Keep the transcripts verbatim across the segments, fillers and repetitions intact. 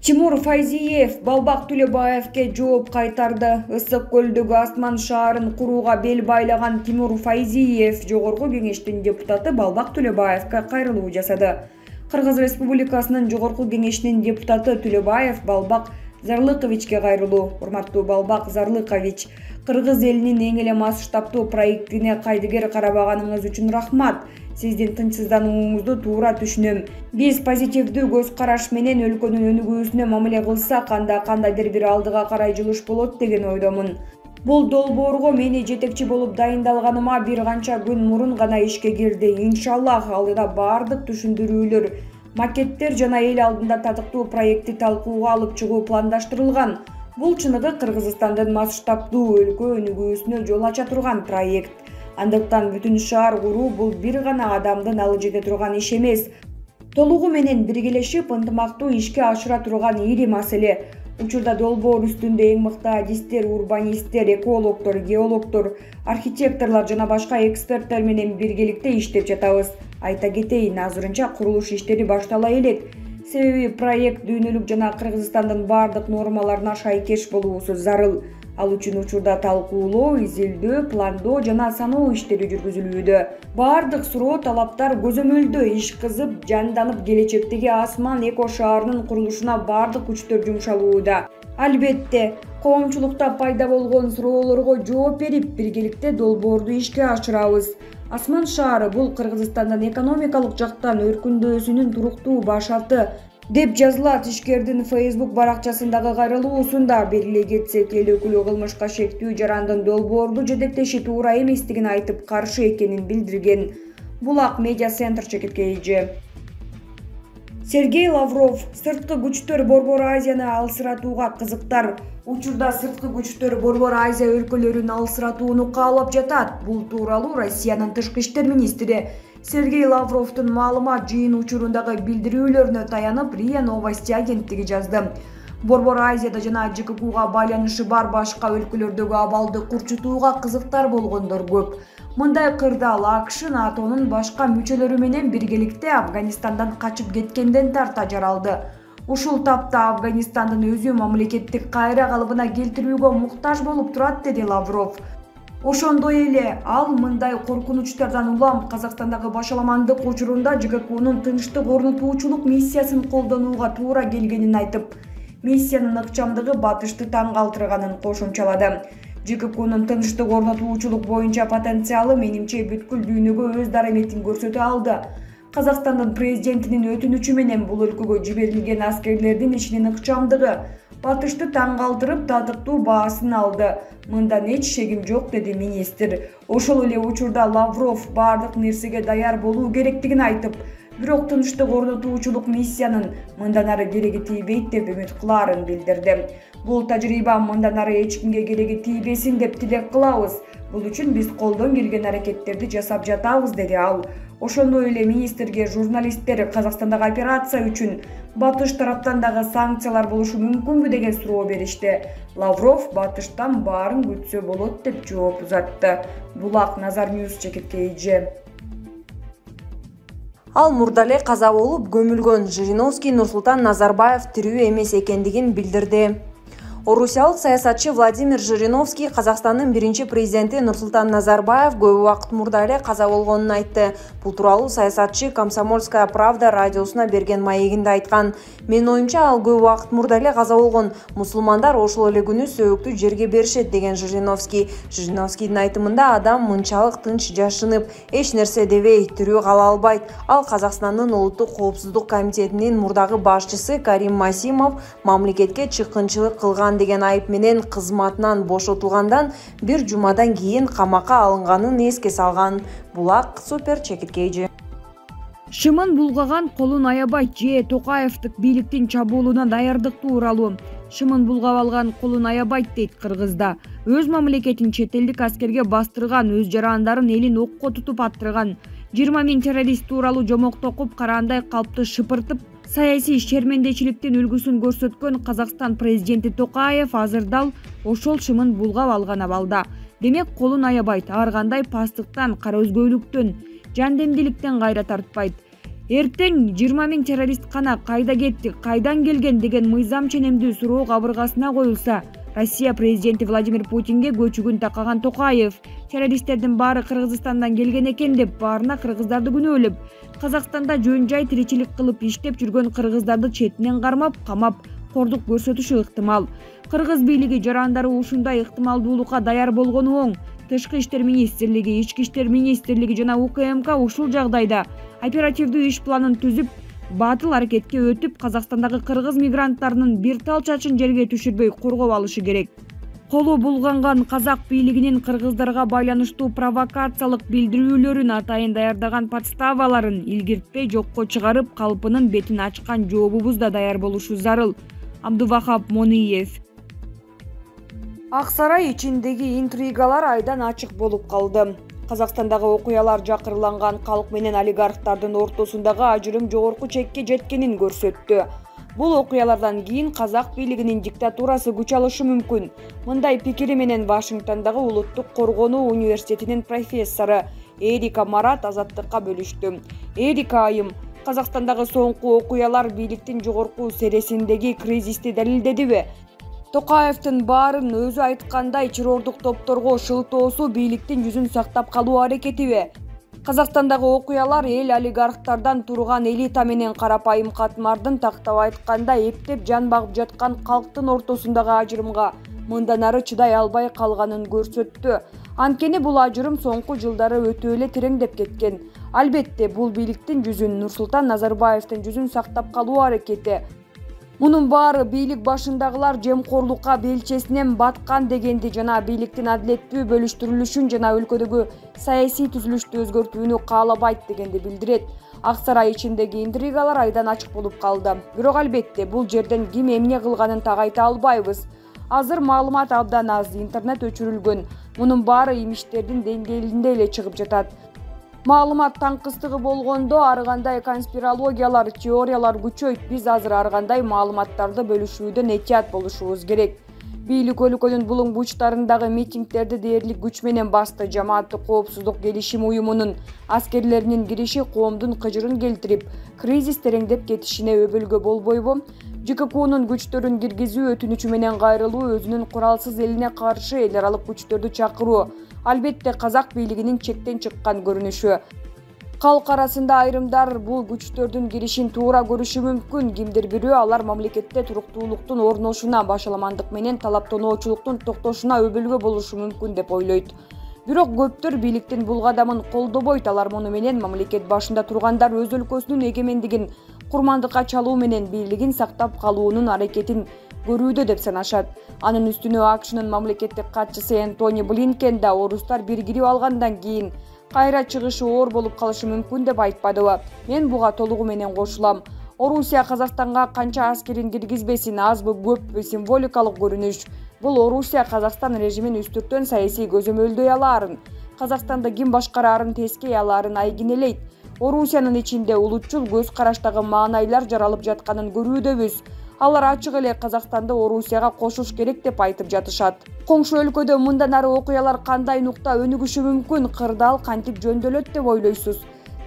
Тимур Файзиев Балбак Төлөбаевке жооп кайтарды. Ысык көлдөгү Асман шаарын курууга бел байлаган Тимур Файзиев Жогорку Кеңештин депутаты Балбак Төлөбаевке кайрылуу жасады. Кыргыз Республикасынын Жогорку Кеңешинин депутаты Төлөбаев Балбак Зарлыковичке кайрылуу. Урматтуу Балбак Зарлыкович, кыргыз элинин эң эле масштабтуу проектине кайдыгер карабаганыңыз үчүн рахмат. Сиздин тынчсызданууңузду туура түшүнөм. Биз позитивдүү көз караш менен өлкөнүн өнүгүүсүнө мамиле кылсак, анда кандайдыр бир алдыга карай жылыш болот деген ойдомун. Бул долбоорго мени жетекчи болуп дайындалганыма бир канча күн мурун гана ишке кирди. Иншаллах алдыда бардык түшүндүрүүлөр, макеттер жана эл алдында татыктуу проектти талкууга алып чыгуу пландаштырылган. Бул чыныгы Кыргызстандын масштабтуу өлкө өнүгүүсүнө жол ача турган проект. Андыктан бүтүн шаар куруу бул бир гана адамдын алы жете турган иш эмес. Толугу менен биргелешип ынтымактуу ишке ашыра турган ири маселе. Учурда долбоор үстүндө эң мыкты адистер, урбанисттер, экологдор, геологдор, архитекторлор жана башка эксперттер менен биргеликте иштеп жатабыз. Айта кетейин, азырынча курулуш иштери баштала элек. Себеби проект дүйнөлүк жана Кыргызстандын бардык нормаларына шайкеш болуусу зарыл. Ал үчүн учурда талкуулоо, изилдөө, пландоо жана саноо иштери жүргүзүлүүдө. Бардык суроо талаптар көзөмөлдө иш кызып, жанданып, келечектеги Асман эко шаарынын курулушуна бардык күчтөр жумшалууда. Албетте, коомчулукта пайда болгон суроолорго жооп берип, биргеликте долбоорду ишке ашырабыз. Асман шаары бул Кыргызстандын экономикалык жактан өркүндөсүнүн туруктуу башарты, деп жазылат ишкердин Facebook баракчасындагы кайрылуусунда. Белгилей кетсек, эл өкүлү кылмышка шектүү жарандын долбоорду жетектеши туура эместигин айтып, каршы экенин билдирген. Булак медиа центр чекиткейи. Сергей Лавров сырткы күчтөр Борбор Азияны алсыратууга кызыктар. Учурда сырткы күчтөр Борбор Азия өлкөлөрүн алсыратууну каалап жатат. Бул тууралуу Россиянын тышкы иштер министри Сергей Лавровдун маалымат жыйын учурундагы билдирүүлөрүнө таянып РИА Новости агенттиги жазды. Борбор Азияда жана ЖККга байланышы бар башка өлкөлөрдөгү абалды курчутууга кызыктар болгондор көп. Мындай кырдаал АКШ НАТОнун башка мүчөлөрү менен биргеликте Афганистандан качып кеткенден тарта жаралды. Ушул тапта Афганистандын өзү мамлекеттик кайра калыбына келтирүүгө муктаж болуп турат, деди Лавров. Ошондой эле ал мындай коркунучтардан улам Казакстандагы башаламандык учурунда ЖККнун тынчтык орнотуучулук миссиясын колдонууга туура келгенин айтып, миссиянын ыкчамдыгы батышты таң калтырганын кошумчалады. ЖККнун тынчтык орнотуучулук боюнча потенциалы менимче бүткүл дүйнөгө өз дараметин көрсөтө алды. Казакстандын президентинин өтүнүчү менен бул өлкөгө жиберилген аскерлердин ишинин ыкчамдыгы батышты таң калтырып, татыктуу баасын алды. Мындан эч шегим жок, деди министр. Ошол эле учурда Лавров бардык нерсеге даяр болуу керектигин айтып, бирок тынчтык орнотуучулук миссиянын мындан ары кереги тийбейт деп үмүт кылаарын билдирди. Бул тажрыйба мындан ары эч кимге кереги тийбесин деп тилек кылабыз. Бул үчүн биз колдон келген аракеттерди жасап жатабыз, деди ал. Ошондой эле министрге журналисттер Казакстандагы операция үчүн батыш тараптан дагы санкциялар болушу мүмкүнбү деген суроо беришти. Лавров батыштан баарын күтсө болот деп жооп узатты. Булак Назар Ньюс чекиткейи. Ал мурда эле каза болуп көмүлгөн Жириновский Нурсултан Назарбаев тирүү эмес экендигин билдирди. Орусиялык саясатчы Владимир Жириновский Казакстандын биринчи президенти Нурсултан Назарбаев көп убакыт мурда эле каза болгонун айтты. Бул тууралуу саясатчы Комсомольская правда радиосуна берген маегинде айткан. Менин оюмча, ал көп убакыт мурда эле каза болгон. Мусулмандар ошол эле күнү сөөктү жерге беришет, деген Жириновский. Жириновскийдин айтымында адам мынчалык тынч жашынып, эч нерсе дебей тирүү кала албайт. Ал Казакстандын улуттук коопсуздук комитетинин мурдагы башчысы Карим Масимов мамлекетке чыккынчылык кылган деген айып менен кызматынан бошотулгандан бир жумадан кийин камакка алынганын эске салган. Булак Супер чекиткейи. Шымын булгаган колун аябайт же Токаевдик бийликтин чабуулуна даярдык тууралуу. Шымын булгап алган колун аябайт, дейт Кыргызда. Өз мамлекетин чет элдик аскерге бастырган, өз жарандарын элин окко тутуп аттырган. жыйырма миң террорист тууралуу жомокто окуп, караандай калпты шыпыртып, саясий шермендечиликтин үлгүсүн көрсөткөн Казакстан президенти Токаев азыр дал ошол шымын булгап алган абалда. Демек, колун аябайт, ар кандай пастыктан, кара өзгөйлүктөн, жандемдиликтен кайра тартпайт. Эртең жыйырма миң террорист кана кайда кетти, кайдан келген деген мыйзам ченемдүү суроо кабыргасына коюлса, Россия президенти Владимир Путинге көчүгүн такаган Токаев террористтердин баары Кыргызстандан келген экен деп баарына кыргыздарды күнөөлөп, Казакстанда жөн жай тиричилик кылып иштеп жүргөн кыргыздарды четинен кармап, камап, кордук көрсөтүшү ыктымал. Кыргыз бийлиги жарандары ушундай ыктымалдуулукка даяр болгону оң. Тышкы иштер министрлиги, Ички иштер министрлиги жана У К М К ушул жагдайда оперативдүү иш планын түзүп, батыл аракетке өтүп, Казакстандагы кыргыз мигранттарынын бир тал чачын жерге түшүрбөй коргоп алышы керек. Колу булганган казак бийлигинин кыргыздарга байланыштуу провокациялык билдирүүлөрүн атайын даярдаган подставаларын илгиртпей жокко чыгарып, калпынын бетин ачкан жообубуз да даяр болушу зарыл. Абдувахап Мониев. Ак сарай ичиндеги интригалар айдан ачык болуп калды. Казакстандагы окуялар жакырланган калк менен олигархтардын ортосундагы ажырым жогорку чекке жеткенин көрсөттү. Бул окуялардан кийин казак бийлигинин диктатурасы күч алышы мүмкүн. Мындай пикири менен Вашингтондагы Улуттук коргонуу университетинин профессору Эрика Марат Азаттыкка бөлүштү. Эрика айым, Казакстандагы соңку окуялар бийликтин жогорку сересиндеги кризисти далилдедиби? Токаевдин баарын өзү айткандай террордук топторго шылтоосу бийликтин жүзүн сактап калуу аракетиби? Казакстандагы окуялар эл олигархтардан турган элита менен карапайым катмардын тактап айтканда эптеп жан багып жаткан калктын ортосундагы ажырымга мындан ары чыдай албай калганын көрсөттү. Анткени бул ажырым соңку жылдары өтө эле тереңдеп кеткен. Албетте, бул бийликтин жүзүн, Нурсултан Назарбаевдин жүзүн сактап калуу аракети. Мунун баары бийлик башындагылар жемкорлукка белчесинен баткан дегенди жана бийликтин адилеттүү бөлүштүрүлүшүн жана өлкөдөгү саясий түзүлүштү өзгөртүүнү каалабайт дегенди билдирет. Ак сарай ичиндеги интригалар айдан ачык болуп калды. Бирок албетте, бул жерден ким эмне кылганын так айта албайбыз. Азыр маалымат абдан аз, интернет өчүрүлгөн. Мунун баары имиштердин деңгээлинде эле чыгып жатат. Маалымат таңкыстыгы болгондо ар кандай конспирологиялар, теориялар күчөйт. Биз азыр ар кандай маалыматтарды бөлүшүүдөн этият болушубуз керек. Бийлик өлкөнүн булуң бурчтарындагы митингдерди дээрлик күч менен басты. Жамааттык коопсуздук келишим уюмунун аскерлеринин кириши коомдун кыжырын келтирип, кризис тереңдеп кетишине өбөлгө болбойбу? Ж К Кнун күчтөрүн киргизүү өтүнүчү менен кайрылуу, өзүнүн куралсыз элине каршы эл аралык күчтөрдү чакыруу албетте казак бийлигинин чектен чыккан көрүнүшү. Калк арасында айрымдар бул күчтөрдүн киришин туура көрүшү мүмкүн. Кимдир бирөө алар мамлекетте туруктуулуктун орношуна, башаламандык менен талаптоноочулуктун токтошуна өбөлгө болушу мүмкүн деп ойлойт. Бирок көптөр бийликтин бул кадамын колдобойт. Алар муну менен мамлекет башында тургандар өз өлкөсүнүн эгемендигин курмандыкка чалуу менен бийлигин сактап калуунун аракетин көрүүдө деп санашат. Анын үстүнө А К Шнын мамлекеттик катчысы Энтони Блинкен да орустар биргирип алгандан кийин кайра чыгышы оор болуп калышы мүмкүн деп айтпадыбы? Мен буга толугу менен кошулам. Орусия Казакстанга канча аскерин киргизбесин, азбы көппү символикалык көрүнүш. Бул Орусия Казакстан режимин үстүртөн саясий көзөмөлдөй алаарын, Казакстанды ким башкараарын тескей алаарын айгинелейт. Орусиянын ичинде улутчул көз караштагы маанайлар жаралып жатканын көрүүдөбүз. Алар ачык эле Казакстанды Орусияга кошуш керек деп айтып жатышат. Коңшу өлкөдө мындан ары окуялар кандай нукта өнүгүшү мүмкүн, кырдаал кантип жөндөлөт деп ойлойсуз?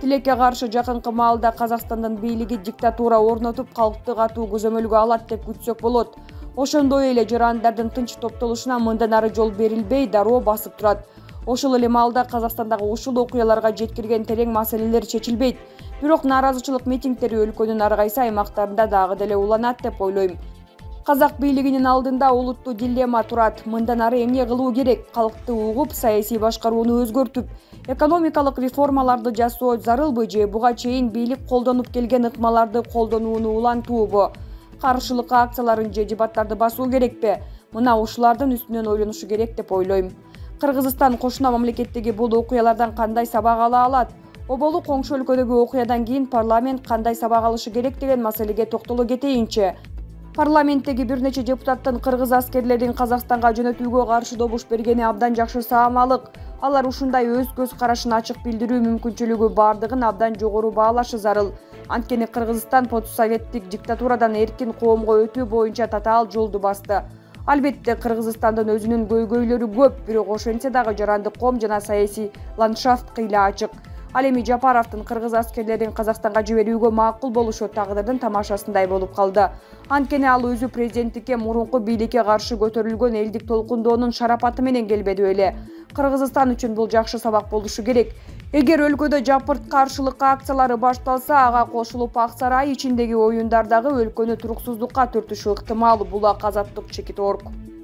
Тилекке каршы жакынкы маалда Казакстандын бийлиги диктатура орнотуп, калкты катуу көзөмөлгө алат деп күтсөк болот. Ошондой эле жарандардын тынч топтолушуна мындан ары жол берилбей, дароо басып турат. Ошол эле маалда Казакстандагы ушул окуяларга жеткирген терең маселелер чечилбейт. Бирок нааразычылык митингдери өлкөнүн ар кайсы аймактарында дагы деле уланат деп ойлойм. Казак бийлигинин алдында улуттуу дилемма турат. Мындан ары эмне кылуу керек? Калкты угуп, саясий башкарууну өзгөртүп, экономикалык реформаларды жасоо зарылбы же буга чейин бийлик колдонуп келген ыкмаларды колдонууну улантуубу? Каршылык акцияларын же дебаттарды басуу керекпи? Мына ушулардын үстүнөн ойлонушу керек деп ойлойм. Кыргызстан кошуна мамлекеттеги бул окуялардан кандай сабак ала алат? Оболу коңшу өлкөдөгү окуядан кийин парламент кандай сабак алышы керек деген маселеге токтоло кетейинчи. Парламенттеги бир нече депутаттын кыргыз аскерлерин Казакстанга жөнөтүүгө каршы добуш бергени абдан жакшы саамалык. Алар ушундай өз көз карашын ачык билдирүү мүмкүнчүлүгү бардыгын абдан жогору баалашы зарыл. Анткени Кыргызстан постсоветтик диктатурадан эркин коомго өтүү боюнча татаал жолду басты. Албетте Кыргызстандын өзүнүн көйгөйлөрү көп, бирок ошентсе дагы жарандык ком жана саясий ландшафт кыйла ачык. Ал эми Жапаровдун кыргыз аскерлерин Казакстанга жиберүүгө макул болушу тагдырдын тамашасындай болуп калды. Анткени ал өзү президенттикке мурунку бийликке каршы көтөрүлгөн элдик толкундоонун шарапаты менен келбеди беле. Кыргызстан үчүн бул жакшы сабак болушу керек. Эгер өлкөдө жапырт каршылык акциялары башталса, ага кошулуп Ак сарай ичиндеги оюндар дагы өлкөнү туруксуздукка түртүшү ыктымал. Булак Азаттык, Чекит точка орг.